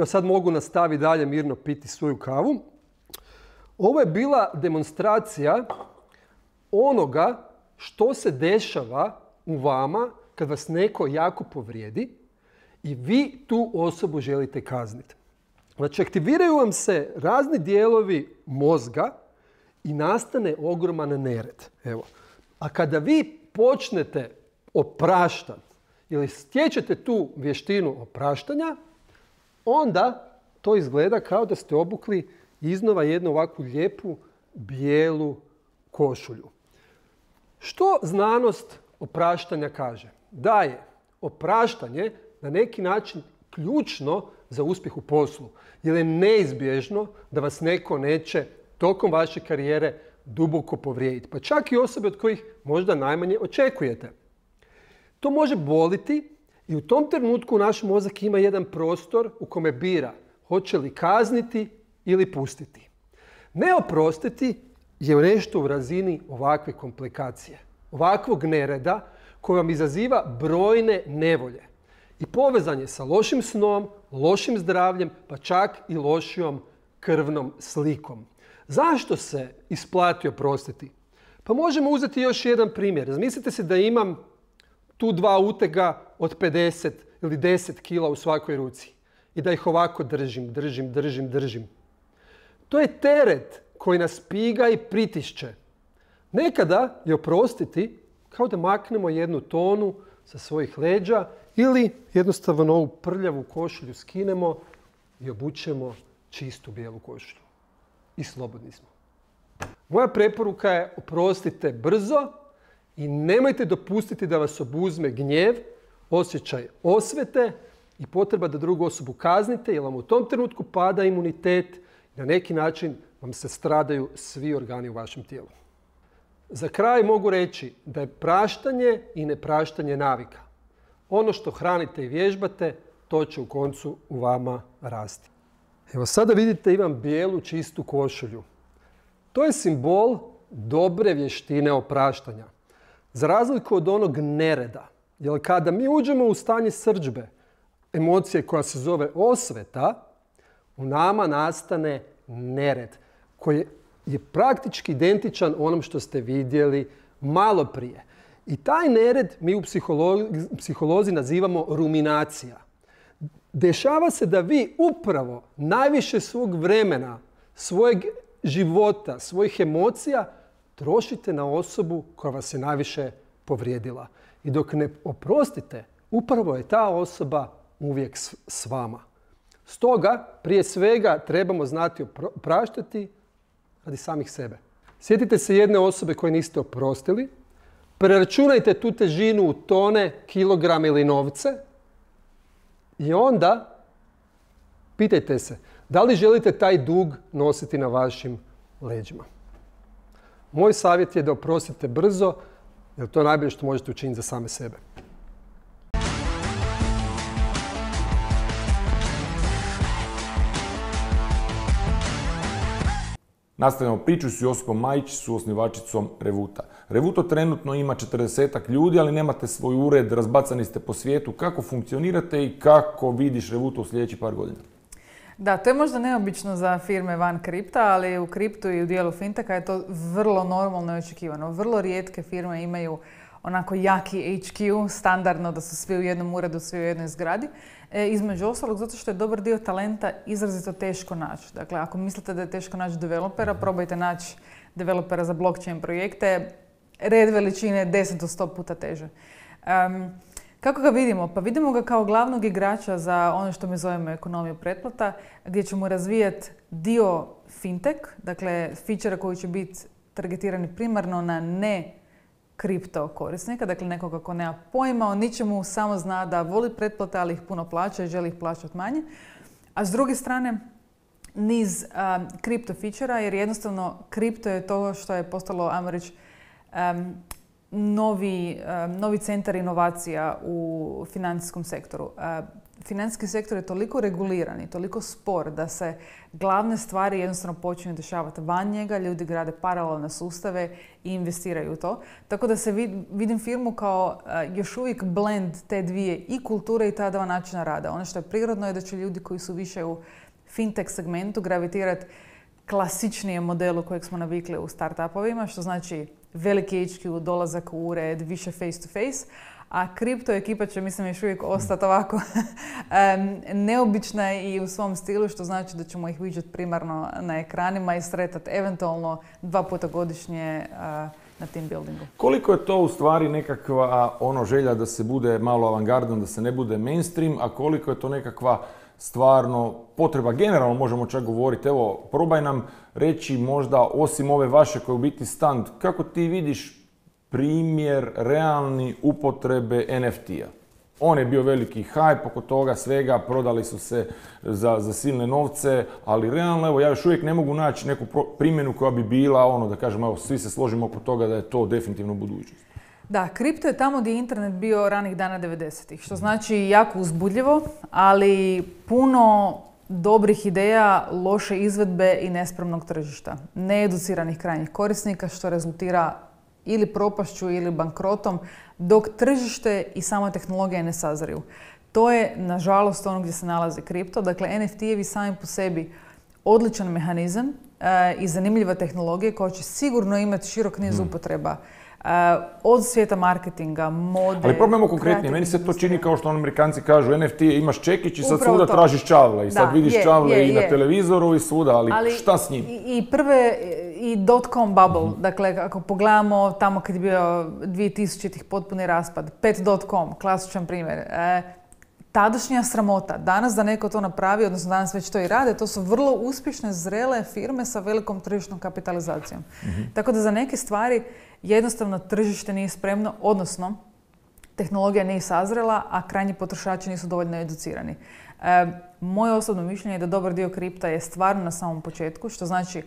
Speaker 7: Sad mogu nastaviti dalje mirno piti svoju kavu. Ovo je bila demonstracija onoga što se dešava u vama kad vas neko jako povrijedi i vi tu osobu želite kazniti. Znači, aktiviraju vam se razni dijelovi mozga i nastane ogroman nered. Evo. A kada vi počnete opraštati ili stječete tu vještinu opraštanja, onda to izgleda kao da ste obukli iznova jednu ovakvu lijepu bijelu košulju. Što znanost opraštanja kaže? Da je opraštanje na neki način ključno za uspjeh u poslu. Jer je neizbježno da vas neko neće tokom vaše karijere duboko povrijediti. Pa čak i osobe od kojih možda najmanje očekujete. To može boliti i u tom trenutku naš mozak ima jedan prostor u kome bira hoće li kazniti ili pustiti. Ne oprostiti je nešto u razini ovakve komplikacije, ovakvog nereda koji vam izaziva brojne nevolje i povezan je sa lošim snom, lošim zdravljem, pa čak i lošijom krvnom slikom. Zašto se isplati oprostiti? Pa možemo uzeti još jedan primjer. Razmislite se da imam tu dva utega od pedeset ili deset kila u svakoj ruci i da ih ovako držim, držim, držim, držim. To je teret koji nas piga i pritišće. Nekada je oprostiti kao da maknemo jednu tonu sa svojih leđa ili jednostavno ovu prljavu košulju skinemo i obučemo čistu bijelu košulju. I slobodni smo. Moja preporuka je oprostite brzo i nemojte dopustiti da vas obuzme gnjev, osjećaj osvete i potreba da drugu osobu kaznite jer vam u tom trenutku pada imunitet i na neki način vam se stradaju svi organi u vašem tijelu. Za kraj mogu reći da je praštanje i nepraštanje navika. Ono što hranite i vježbate, to će u koncu u vama rasti. Evo sada vidite imam bijelu čistu košulju. To je simbol dobre vještine opraštanja. Za razliku od onog nereda. Jer kada mi uđemo u stanje srdžbe, emocije koja se zove osveta, u nama nastane nered koji je praktički identičan onom što ste vidjeli malo prije. I taj nered mi u psiholozi, psiholozi nazivamo ruminacija. Dešava se da vi upravo najviše svog vremena, svojeg života, svojih emocija trošite na osobu koja vas je najviše povrijedila. I dok ne oprostite, upravo je ta osoba uvijek s vama. Stoga, prije svega, trebamo znati opraštati radi samih sebe. Sjetite se jedne osobe koje niste oprostili, preračunajte tu težinu u tone, kilograme ili novce i onda pitajte se da li želite taj dug nositi na vašim leđima. Moj savjet je da oprostite brzo, jer to je najbolje što možete učiniti za same sebe.
Speaker 1: Nastavljamo priču s Josipom Majić, su osnivačicom Revuta. Revuto trenutno ima četrdesetak ljudi, ali nemate svoj ured, razbacani ste po svijetu. Kako funkcionirate i kako vidiš Revuto u sljedećih par godina?
Speaker 4: Da, to je možda neobično za firme van kripta, ali u kriptu i u dijelu finteka je to vrlo normalno i očekivano. Vrlo rijetke firme imaju onako jaki H Q, standardno da su svi u jednom uredu, svi u jednoj zgradi. E, između ostalog, zato što je dobar dio talenta izrazito teško naći. Dakle, ako mislite da je teško naći developera, probajte naći developera za blockchain projekte. Red veličine deset do sto puta teže. Um, kako ga vidimo? Pa vidimo ga kao glavnog igrača za ono što mi zovemo ekonomiju pretplata, gdje ćemo razvijati dio fintech, dakle, feature koji će biti targetirani primarno na ne kripto korisnika, dakle nekoga ko nema pojma o ničemu, samo zna da voli pretplate, ali ih puno plaća i želi ih plaćati manje. A s druge strane, niz um, kripto feature-a, jer jednostavno kripto je to što je postalo, ajmo reći, um, novi, um, novi centar inovacija u financijskom sektoru. Uh, financijski sektor je toliko reguliran i toliko spor da se glavne stvari jednostavno počinju dešavati van njega, ljudi grade paralelne sustave i investiraju u to. Tako da se vid, vidim firmu kao uh, još uvijek blend te dvije i kulture i ta dva načina rada. Ono što je prirodno je da će ljudi koji su više u fintech segmentu gravitirati klasičnijem modelu kojeg smo navikli u startupovima, što znači veliki H Q, dolazak u ured, više face to face, a kripto ekipa će, mislim, još uvijek ostati ovako um, neobična i u svom stilu, što znači da ćemo ih vidjeti primarno na ekranima i sretati eventualno dva puta godišnje uh, na team buildingu.
Speaker 1: Koliko je to u stvari nekakva ono želja da se bude malo avangardan, da se ne bude mainstream, a koliko je to nekakva stvarno potreba, generalno možemo čak govoriti, evo, probaj nam reći možda, osim ove vaše koja je u biti stand, kako ti vidiš primjer realni upotrebe N F T-a? On je bio veliki hype oko toga svega, prodali su se za, za silne novce, ali realno, evo, ja još uvijek ne mogu naći neku primjenu koja bi bila, ono, da kažem, evo, svi se složimo oko toga da je to definitivno budućnost.
Speaker 4: Da, kripto je tamo gdje je internet bio ranih dana devedesetih, što znači jako uzbudljivo, ali puno dobrih ideja, loše izvedbe i nespremnog tržišta. Needuciranih krajnjih korisnika, što rezultira ili propašću ili bankrotom, dok tržište i sama tehnologija ne sazriju. To je, nažalost, ono gdje se nalazi kripto. Dakle, N F T-evi sami po sebi odličan mehanizam e, i zanimljiva tehnologija koja će sigurno imati širok niz
Speaker 1: hmm.
Speaker 4: upotreba. Uh, od svijeta marketinga, mode...
Speaker 1: Ali probajmo konkretnije. Meni se to čini kao što Amerikanci kažu, N F T imaš čekić i sad
Speaker 4: Upravo
Speaker 1: svuda
Speaker 4: to.
Speaker 1: tražiš čavle. I sad
Speaker 4: da,
Speaker 1: vidiš
Speaker 4: je,
Speaker 1: čavle
Speaker 4: je,
Speaker 1: i
Speaker 4: je.
Speaker 1: na televizoru i svuda, ali,
Speaker 4: ali
Speaker 1: šta s njim?
Speaker 4: I, i prve, i dot-com bubble, mm-hmm. dakle, ako pogledamo tamo kad je bio dvije tisućitih potpuni raspad, pet dot com, klasičan primjer, e, tadašnja sramota. Danas da neko to napravi, odnosno danas već to i rade, to su vrlo uspješne, zrele firme sa velikom tržišnom kapitalizacijom. Mm-hmm. Tako da za neke stvari jednostavno tržište nije spremno, odnosno tehnologija nije sazrela, a krajnji potrošači nisu dovoljno educirani. E, moje osobno mišljenje je da dobar dio kripta je stvarno na samom početku, što znači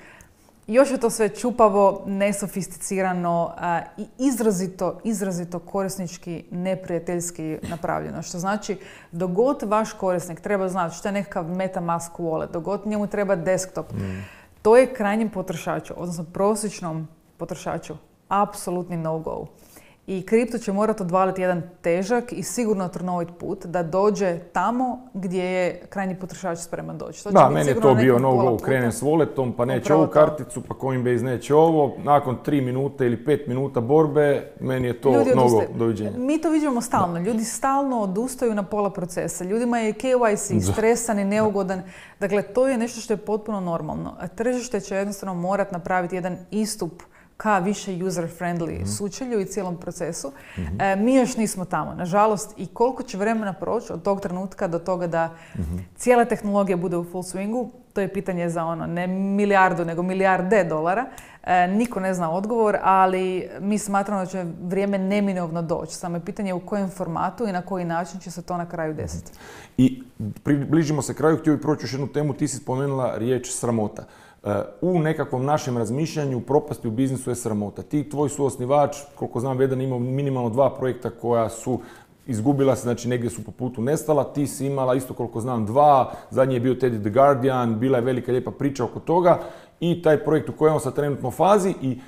Speaker 4: još je to sve čupavo, nesofisticirano a, i izrazito, izrazito korisnički, neprijateljski napravljeno. Što znači, dok god vaš korisnik treba znati što je nekakav MetaMask wallet, dok god njemu treba desktop, mm. to je krajnjem potrošaču, odnosno prosječnom potrošaču, apsolutni no-go. I kripto će morati odvaliti jedan težak i sigurno trnovit put da dođe tamo gdje je krajnji potrošač spreman doći. To
Speaker 1: da, meni je to bio no-go, krenem s walletom, pa neće ovu karticu, pa Coinbase neće ovo. Nakon tri minute ili pet minuta borbe, meni je to no-go, doviđenja.
Speaker 4: Mi to vidimo stalno. Ljudi stalno odustaju na pola procesa. Ljudima je K Y C stresan i neugodan. Dakle, to je nešto što je potpuno normalno. A tržište će jednostavno morati napraviti jedan istup ka više user-friendly mm-hmm. sučelju i cijelom procesu. Mm-hmm. E, mi još nismo tamo, nažalost, i koliko će vremena proći od tog trenutka do toga da mm-hmm. cijela tehnologija bude u full swingu, to je pitanje za ono, ne milijardu, nego milijarde dolara. E, niko ne zna odgovor, ali mi smatramo da će vrijeme neminovno doći. Samo je pitanje u kojem formatu i na koji način će se to na kraju desiti.
Speaker 1: I približimo se kraju, htio bih proći još jednu temu, ti si spomenula riječ sramota. U nekakvom našem razmišljanju propasti u biznisu je sramota. Ti, tvoj suosnivač, koliko znam, Vedan imao minimalno dva projekta koja su izgubila se, znači negdje su po putu nestala. Ti si imala isto koliko znam dva, zadnji je bio Teddy the Guardian, bila je velika lijepa priča oko toga i taj projekt u kojem je sad trenutno fazi i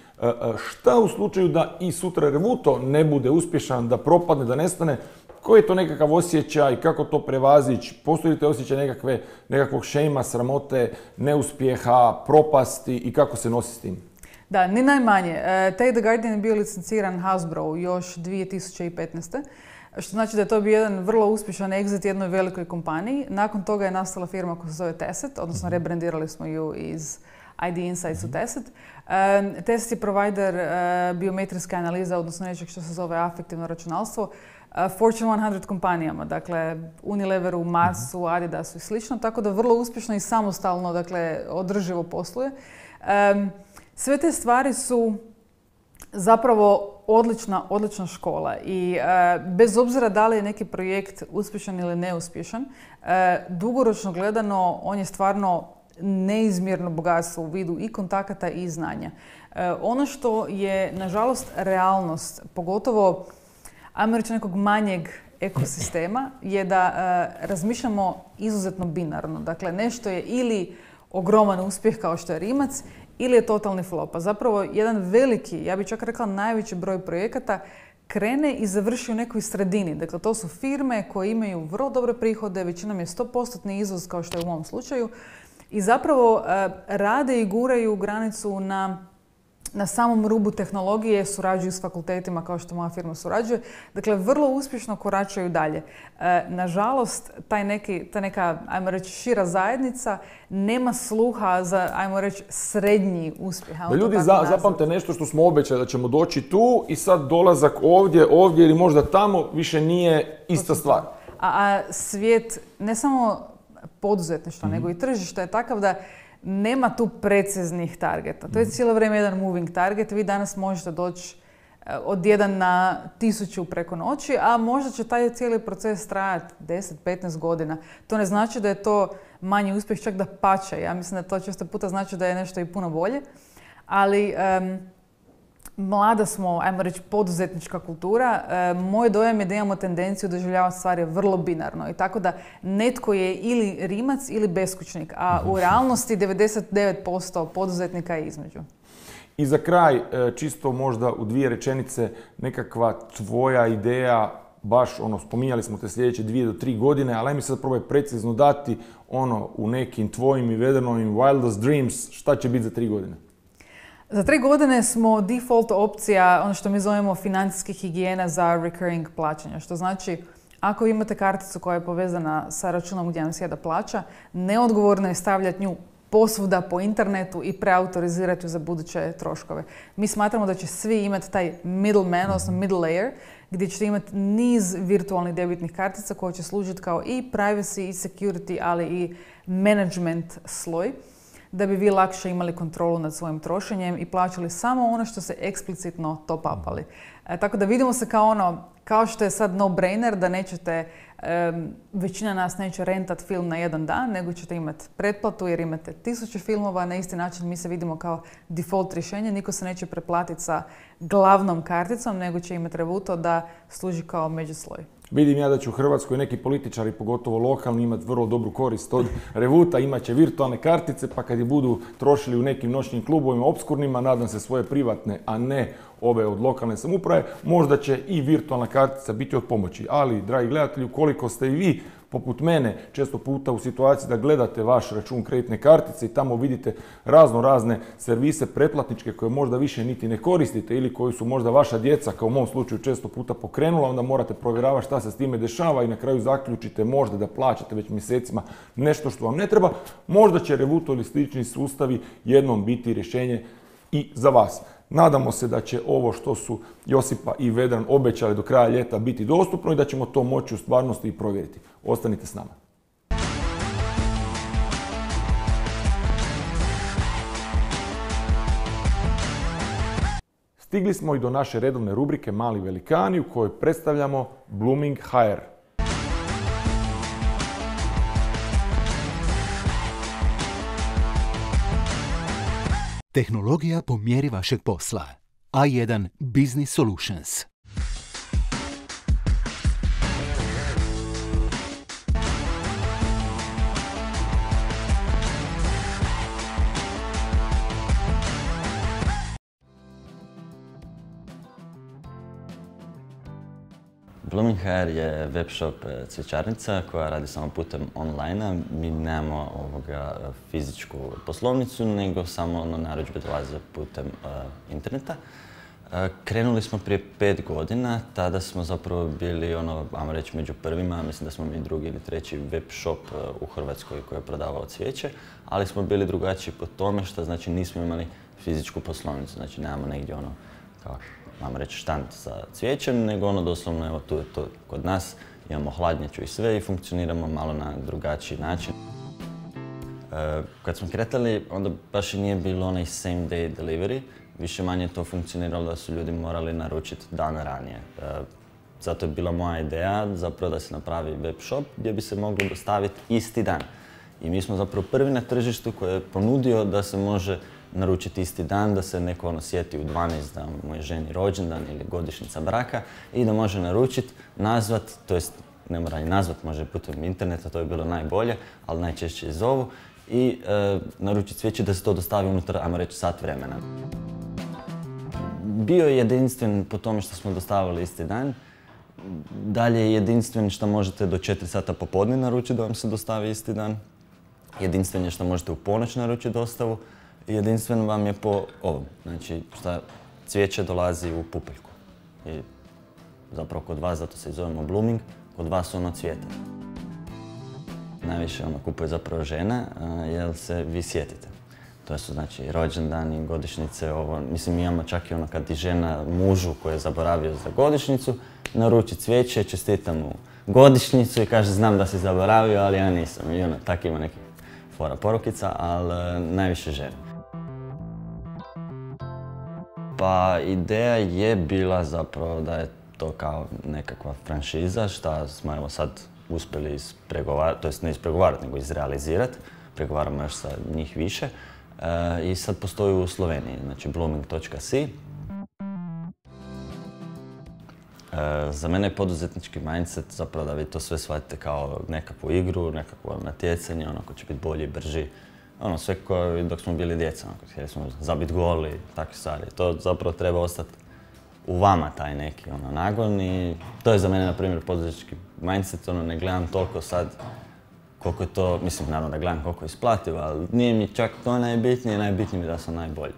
Speaker 1: šta u slučaju da i sutra Revuto ne bude uspješan, da propadne, da nestane, koji je to nekakav osjećaj, kako to prevazići, postoji li te osjećaj nekakve, nekakvog šejma, sramote, neuspjeha, propasti i kako se nosi s tim?
Speaker 4: Da, ni najmanje. Tate the Guardian je bio licenciran Hasbro još dvije tisuće petnaeste. Što znači da je to bio jedan vrlo uspješan exit jednoj velikoj kompaniji. Nakon toga je nastala firma koja se zove Tacit, odnosno rebrandirali smo ju iz I D Insights u Tacit. Uh, Tacit je provider uh, biometrijske analize, odnosno nečeg što se zove afektivno računalstvo, uh, Fortune sto kompanijama, dakle Unileveru, Marsu, Adidasu i slično, tako da vrlo uspješno i samostalno, dakle održivo posluje. Um, sve te stvari su zapravo odlična, odlična škola i e, bez obzira da li je neki projekt uspješan ili neuspješan, e, dugoročno gledano on je stvarno neizmjerno bogatstvo u vidu i kontakata i znanja. E, ono što je, nažalost, realnost, pogotovo, ajmo reći, nekog manjeg ekosistema, je da e, razmišljamo izuzetno binarno. Dakle, nešto je ili ogroman uspjeh kao što je Rimac, ili je totalni flop. A zapravo jedan veliki, ja bih čak rekla najveći broj projekata krene i završi u nekoj sredini. Dakle, to su firme koje imaju vrlo dobre prihode, većinom je sto posto izvoz kao što je u ovom slučaju i zapravo e, rade i guraju granicu na, na samom rubu tehnologije, surađuju s fakultetima kao što moja firma surađuje. Dakle, vrlo uspješno koračaju dalje. E, nažalost, taj neki, ta neka, ajmo reći, šira zajednica nema sluha za, ajmo reći, srednji uspjeh.
Speaker 1: Da ljudi za, zapamte nešto što smo obećali da ćemo doći tu i sad dolazak ovdje, ovdje ili možda tamo više nije ista stvar.
Speaker 4: A, a svijet, ne samo poduzetništva, mm-hmm. nego i tržišta je takav da nema tu preciznih targeta. To je cijelo vrijeme jedan moving target. Vi danas možete doći od jedan na tisuću preko noći, a možda će taj cijeli proces trajati deset do petnaest godina. To ne znači da je to manji uspjeh, čak da pače. Ja mislim da to često puta znači da je nešto i puno bolje. Ali um, mlada smo, ajmo reći, poduzetnička kultura. E, moj dojam je da imamo tendenciju doživljavati stvari vrlo binarno. I tako da netko je ili Rimac ili beskućnik, a u realnosti devedeset devet posto poduzetnika je između.
Speaker 1: I za kraj, čisto možda u dvije rečenice, nekakva tvoja ideja, baš ono, spominjali smo te sljedeće dvije do tri godine, ali aj mi sad probaj precizno dati ono u nekim tvojim i Vedranovim wildest dreams, šta će biti za tri godine?
Speaker 4: Za tri godine smo default opcija, ono što mi zovemo financijskih higijena za recurring plaćanja, što znači ako imate karticu koja je povezana sa računom gdje vam sjeda plaća, neodgovorno je stavljati nju posvuda po internetu i preautorizirati ju za buduće troškove. Mi smatramo da će svi imati taj middleman, odnosno middle layer, gdje ćete imati niz virtualnih debitnih kartica koje će služiti kao i privacy i security, ali i management sloj, da bi vi lakše imali kontrolu nad svojim trošenjem i plaćali samo ono što se eksplicitno top upali. E, tako da vidimo se kao ono, kao što je sad no-brainer, da nećete, um, većina nas neće rentat film na jedan dan, nego ćete imati pretplatu jer imate tisuće filmova. Na isti način mi se vidimo kao default rješenje. Niko se neće preplatiti sa glavnom karticom, nego će imati Revuto da služi kao međusloj.
Speaker 1: Vidim ja da će u Hrvatskoj neki političari, pogotovo lokalni, imati vrlo dobru korist od Revuta, imat će virtualne kartice, pa kad je budu trošili u nekim noćnim klubovima obskurnima, nadam se svoje privatne, a ne ove od lokalne samouprave, možda će i virtualna kartica biti od pomoći. Ali, dragi gledatelji, ukoliko ste i vi, poput mene, često puta u situaciji da gledate vaš račun kreditne kartice i tamo vidite razno razne servise pretplatničke koje možda više niti ne koristite ili koji su možda vaša djeca, kao u mom slučaju, često puta pokrenula, onda morate provjeravati šta se s time dešava i na kraju zaključite možda da plaćate već mjesecima nešto što vam ne treba. Možda će Revuto ili slični sustavi jednom biti rješenje i za vas. Nadamo se da će ovo što su Josipa i Vedran obećali do kraja ljeta biti dostupno i da ćemo to moći u stvarnosti i provjeriti. Ostanite s nama. Stigli smo i do naše redovne rubrike Mali velikani u kojoj predstavljamo Blooming ha er.
Speaker 3: Tehnologija po mjeri vašeg posla. A jedan Business Solutions.
Speaker 8: Blooming Hair je web shop cvjećarnica koja radi samo putem online-a. Mi nemamo ovoga fizičku poslovnicu, nego samo ono, narudžbe dolaze putem uh, interneta. Uh, krenuli smo prije pet godina, tada smo zapravo bili, ono, ajmo reći, među prvima, mislim da smo mi drugi ili treći web shop uh, u Hrvatskoj koji je prodavao cvijeće, ali smo bili drugačiji po tome što znači nismo imali fizičku poslovnicu, znači nemamo negdje ono, kako, ajmo reći, štand sa cvijećem, nego ono doslovno, evo tu je to kod nas, imamo hladnjaču i sve i funkcioniramo malo na drugačiji način. E, kad smo kretali, onda baš i nije bilo onaj same day delivery, više manje to funkcioniralo da su ljudi morali naručiti dan ranije. E, zato je bila moja ideja zapravo da se napravi web shop gdje bi se moglo dostaviti isti dan. I mi smo zapravo prvi na tržištu koji je ponudio da se može naručiti isti dan, da se neko ono sjeti u dvanaest da mu je ženi rođendan ili godišnjica braka i da može naručiti, nazvat, to jest ne mora ni nazvat, može putem interneta, to je bilo najbolje, ali najčešće i zovu i e, naručiti cvijeće da se to dostavi unutar, ajmo reći, sat vremena. Bio je jedinstven po tome što smo dostavili isti dan. Dalje je jedinstven što možete do četiri sata popodne naručiti da vam se dostavi isti dan. Jedinstven je što možete u ponoć naručiti dostavu. Jedinstven vam je po ovom, znači šta cvijeće dolazi u pupeljku. I zapravo kod vas, zato se i zovemo Blooming, kod vas ono cvijeta. Najviše ono kupuje zapravo žena, jer se vi sjetite. To su znači rođendani, godišnjice, ovo, mislim mi imamo čak i ono kad i žena mužu koji je zaboravio za godišnjicu, naruči cvijeće, čestita mu godišnjicu i kaže znam da si zaboravio, ali ja nisam. I ono, tak ima nekih fora porukica, ali najviše žena. Pa ideja je bila zapravo da je to kao nekakva franšiza šta smo evo sad uspjeli ispregovarati, to jest ne ispregovarati nego izrealizirati. Pregovaramo još sa njih više. E, I sad postoji u Sloveniji, znači blooming točka si. E, za mene je poduzetnički mindset zapravo da vi to sve shvatite kao nekakvu igru, nekakvo natjecanje, ono ko će biti bolji, brži. Ono, sve kao dok smo bili djeca, ono, htjeli smo zabiti gol i takve stvari. To zapravo treba ostati u vama taj neki ono, nagon i to je za mene, na primjer, poduzetnički mindset, ono, ne gledam toliko sad koliko je to, mislim, naravno da gledam koliko je isplativo, ali nije mi čak to najbitnije, najbitnije mi da sam najbolji.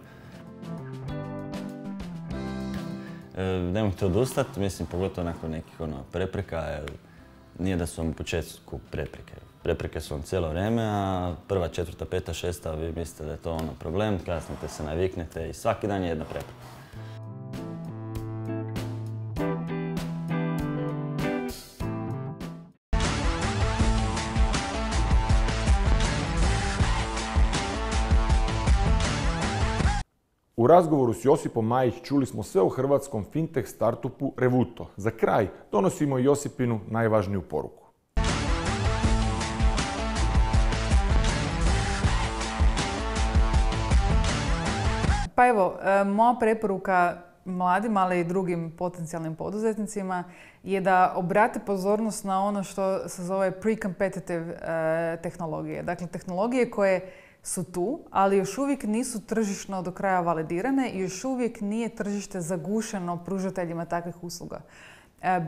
Speaker 8: E, nemojte odustati, mislim, pogotovo nakon nekih ono, prepreka, jer nije da su vam u početku prepreke. Prepreke su vam cijelo vrijeme, a prva, četvrta, peta, šesta, vi mislite da je to ono problem, kasnije se naviknete i svaki dan je jedna prepreka.
Speaker 1: U razgovoru s Josipom Majić čuli smo sve o hrvatskom fintech startupu Revuto. Za kraj donosimo Josipinu najvažniju poruku.
Speaker 4: Pa evo, moja preporuka mladim, ali i drugim potencijalnim poduzetnicima je da obrate pozornost na ono što se zove pre-competitive tehnologije. Dakle, tehnologije koje su tu, ali još uvijek nisu tržišno do kraja validirane i još uvijek nije tržište zagušeno pružateljima takvih usluga.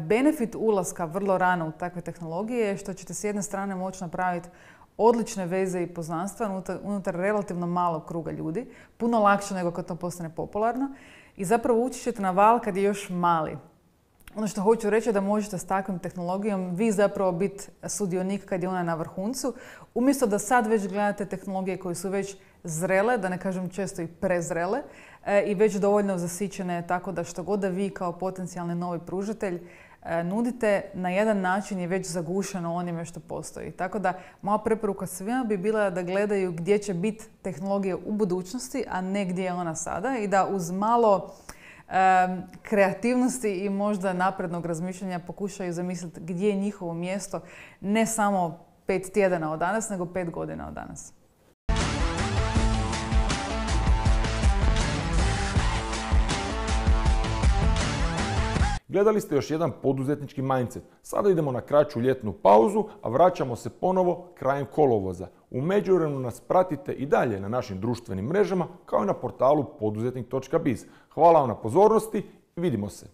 Speaker 4: Benefit ulaska vrlo rano u takve tehnologije je što ćete s jedne strane moći napraviti odlične veze i poznanstva unutar, unutar relativno malog kruga ljudi, puno lakše nego kad to postane popularno i zapravo ući ćete na val kad je još mali. Ono što hoću reći je da možete s takvom tehnologijom vi zapravo biti sudionik kad je ona na vrhuncu, umjesto da sad već gledate tehnologije koje su već zrele, da ne kažem često i prezrele, e, i već dovoljno zasićene tako da što god da vi kao potencijalni novi pružatelj e, nudite, na jedan način je već zagušeno onime što postoji. Tako da moja preporuka svima bi bila da gledaju gdje će biti tehnologija u budućnosti, a ne gdje je ona sada i da uz malo kreativnosti i možda naprednog razmišljanja pokušaju zamisliti gdje je njihovo mjesto ne samo pet tjedana od danas, nego pet godina od danas.
Speaker 1: Gledali ste još jedan poduzetnički mindset. Sada idemo na kraću ljetnu pauzu, a vraćamo se ponovo krajem kolovoza. U međuvremenu nas pratite i dalje na našim društvenim mrežama kao i na portalu poduzetnik točka biz. Hvala vam na pozornosti i vidimo se.